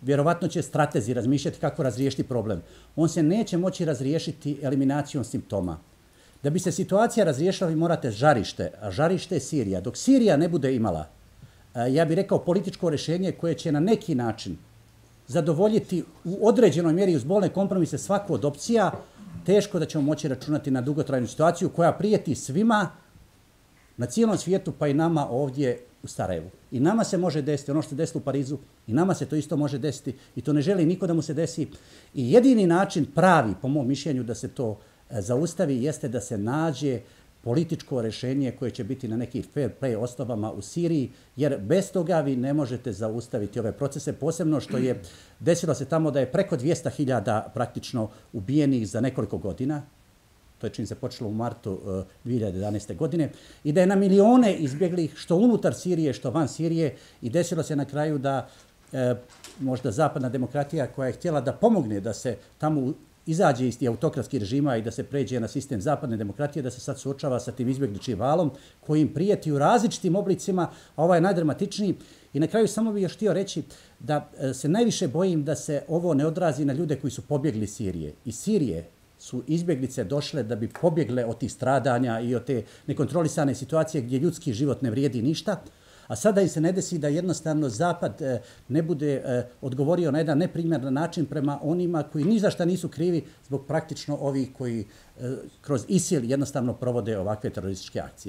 vjerovatno će stratezi razmišljati kako razriješiti problem. On se neće moći razriješiti eliminacijom simptoma. Da bi se situacija razriješila, vi morate žarište, a žarište je Sirija. Dok Sirija ne bude imala, ja bih rekao, političko rješenje koje će na neki način zadovoljiti u određenoj mjeri uz bolne kompromise svaku od opcija, teško da ćemo moći računati na dugotrajnu situaciju koja prijeti svima na cijelom svijetu, pa i nama ovdje u Sarajevu. I nama se može desiti ono što se desilo u Parizu, i nama se to isto može desiti, i to ne želi niko da mu se desi. I jedini način pravi, po mom mišljenju, da se to zaustavi jeste da se nađe političko rješenje koje će biti na nekih fair play osnovama u Siriji, jer bez toga vi ne možete zaustaviti ove procese, posebno što je desilo se tamo da je preko 200.000 praktično ubijenih za nekoliko godina. To je čim se počelo u martu 2011. godine, i da je na milijone izbjeglih što unutar Sirije, što van Sirije, i desilo se na kraju da možda zapadna demokratija koja je htjela da pomogne da se tamo izađe iz autokratskih režima i da se pređe na sistem zapadne demokratije, da se sad suočava sa tim izbjegličkim valom koji im prijeti u različitim oblicima, a ovaj je najdramatičniji. I na kraju samo bih još htio reći da se najviše bojim da se ovo ne odrazi na ljude koji su pobjegli iz Sirije. Iz Sirije su izbjeglice došle da bi pobjegle od tih stradanja i od te nekontrolisane situacije gdje ljudski život ne vrijedi ništa, a sada im se ne desi da jednostavno Zapad ne bude odgovorio na jedan neprimjeran način prema onima koji ni za šta nisu krivi zbog praktično ovih koji kroz ISIL jednostavno provode ovakve terorističke akcije.